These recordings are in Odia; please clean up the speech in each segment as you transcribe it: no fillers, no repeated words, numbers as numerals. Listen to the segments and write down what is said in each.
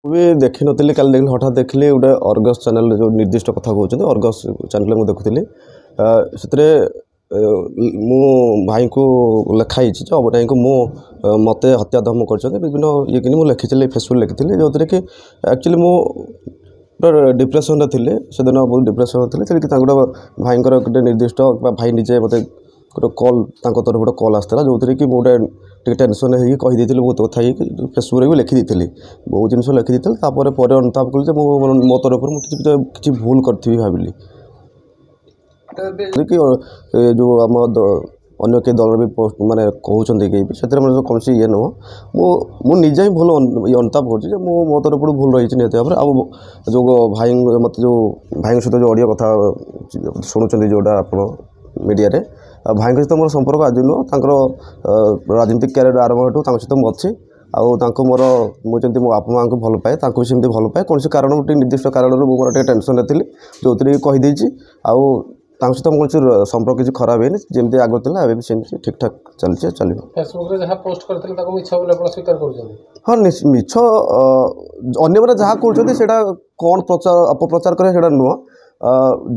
ମୁଁ ବି ଦେଖିନଥିଲି, କାଲି ଦେଖିଲି, ହଠାତ୍ ଦେଖିଲି ଗୋଟେ ଅର୍ଗସ୍ ଚ୍ୟାନେଲରେ, ଯେଉଁ ନିର୍ଦ୍ଦିଷ୍ଟ କଥା କହୁଛନ୍ତି, ଅର୍ଗସ୍ ଚ୍ୟାନେଲରେ ମୁଁ ଦେଖୁଥିଲି। ସେଥିରେ ମୁଁ ଭାଇଙ୍କୁ ଲେଖା ହେଇଛି ଯେ ଅବନାଇଙ୍କୁ ମୁଁ ମୋତେ ହତ୍ୟା ଧମକ କରିଛନ୍ତି ବିଭିନ୍ନ ଇଏ କିନି ମୁଁ ଲେଖିଥିଲି, ଫେସବୁକ୍ ଲେଖିଥିଲି, ଯେଉଁଥିରେ କି ଆକ୍ଚୁଆଲି ମୁଁ ଗୋଟେ ଡିପ୍ରେସନରେ ଥିଲି ସେଦିନ, ବହୁତ ଡିପ୍ରେସନରେ ଥିଲି। ସେଠି ତାଙ୍କର ଭାଇଙ୍କର ଗୋଟେ ନିର୍ଦ୍ଦିଷ୍ଟ ବା ଭାଇ ନିଜେ ମୋତେ ଗୋଟେ କଲ୍, ତାଙ୍କ ତରଫରୁ ଗୋଟେ କଲ୍ ଆସିଥିଲା, ଯେଉଁଥିରେ କି ମୁଁ ଗୋଟେ ଟିକେ ଟେନସନ୍ ହେଇକି କହିଦେଇଥିଲି ବହୁତ କଥା ହେଇକି, ଫେସବୁକ୍ରେ ବି ଲେଖିଦେଇଥିଲି, ବହୁତ ଜିନିଷ ଲେଖିଦେଇଥିଲି। ତାପରେ ପରେ ଅନୁତାପ କଲି ଯେ ମୁଁ ମୋ ତରଫରୁ ମୁଁ କିଛି କିଛି ଭୁଲ କରିଥିବି ଭାବିଲି କି ଯେଉଁ ଆମ ଅନ୍ୟ କେହି ଦଳର ବି ପୋଷ୍ଟ ମାନେ କହୁଛନ୍ତି କେହି ବି, ସେଥିରେ ମୋର କୌଣସି ଇଏ ନୁହଁ। ମୁଁ ନିଜେ ହିଁ ଭୁଲ ଅନୁତାପ କରୁଛି ଯେ ମୁଁ ମୋ ତରଫରୁ ଭୁଲ ରହିଛି ନିହାତି ଭାବରେ। ଆଉ ଯେଉଁ ଭାଇ ମୋତେ ଯେଉଁ ଭାଇଙ୍କ ସହିତ ଯେଉଁ ଅଡ଼ିଓ କଥା ଶୁଣୁଛନ୍ତି ଯେଉଁଟା ଆପଣ ମିଡ଼ିଆରେ, ଆଉ ଭାଇଙ୍କ ସହିତ ମୋର ସମ୍ପର୍କ ଆଜି ନୁହଁ, ତାଙ୍କର ରାଜନୀତିକ କ୍ୟାରିୟର ଆରମ୍ଭ ହେଠୁ ତାଙ୍କ ସହିତ ମୁଁ ଅଛି। ଆଉ ତାଙ୍କୁ ମୋର ମୁଁ ଯେମିତି ମୋ ବାପା ମାଆଙ୍କୁ ଭଲ ପାଏ, ତାଙ୍କୁ ବି ସେମିତି ଭଲ ପାଏ। କୌଣସି କାରଣ ଟିକେ ନିର୍ଦ୍ଦିଷ୍ଟ କାରଣରୁ ମୁଁ ମୋର ଟିକେ ଟେନସନ୍ରେ ଥିଲି, ଯେଉଁଥିରେ କି କହିଦେଇଛି। ଆଉ ତାଙ୍କ ସହିତ କୌଣସି ସମ୍ପର୍କ କିଛି ଖରାପ ହେଇନି, ଯେମିତି ଆଗରୁ ଥିଲା ଏବେ ବି ସେମିତି ଠିକ୍ଠାକ୍ ଚାଲିଛି, ଚାଲିବ। ଫେସବୁକ୍ରେ ଯାହା ପୋଷ୍ଟ କରିଥିଲେ ତାକୁ ମିଛ ବୋଲି ଆପଣ ସ୍ୱୀକାର କରୁଛନ୍ତି? ହଁ, ମିଛ। ଅନ୍ୟମାନେ ଯାହା କହୁଛନ୍ତି ସେଇଟା କ'ଣ ପ୍ରଚାର ଅପପ୍ରଚାର କରିବା ସେଇଟା ନୁହଁ।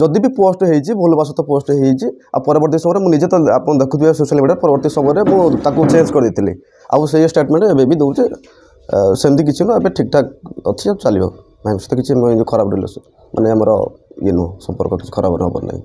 ଯଦି ବି ପୋଷ୍ଟ ହେଇଛି, ଭୁଲବଶତଃ ପୋଷ୍ଟ ହେଇଛି। ଆଉ ପରବର୍ତ୍ତୀ ସମୟରେ ମୁଁ ନିଜେ ତ ଆପଣ ଦେଖୁଥିବେ ସୋସିଆଲ ମିଡ଼ିଆରେ, ପରବର୍ତ୍ତୀ ସମୟରେ ମୁଁ ତାକୁ ଚେଞ୍ଜ କରିଦେଇଥିଲି। ଆଉ ସେଇ ଷ୍ଟେଟମେଣ୍ଟ ଏବେ ବି ଦେଉଛି, ସେମିତି କିଛି ନୁହଁ, ଏବେ ଠିକ୍ଠାକ୍ ଅଛି ଆଉ ଚାଲିବ। ଭାଇଙ୍କ ସହିତ କିଛି ଖରାପ ରିଲେସନ୍ ମାନେ ଆମର ଇଏ ନୁହଁ, ସମ୍ପର୍କ କିଛି ଖରାପ ହେବାର ନାହିଁ।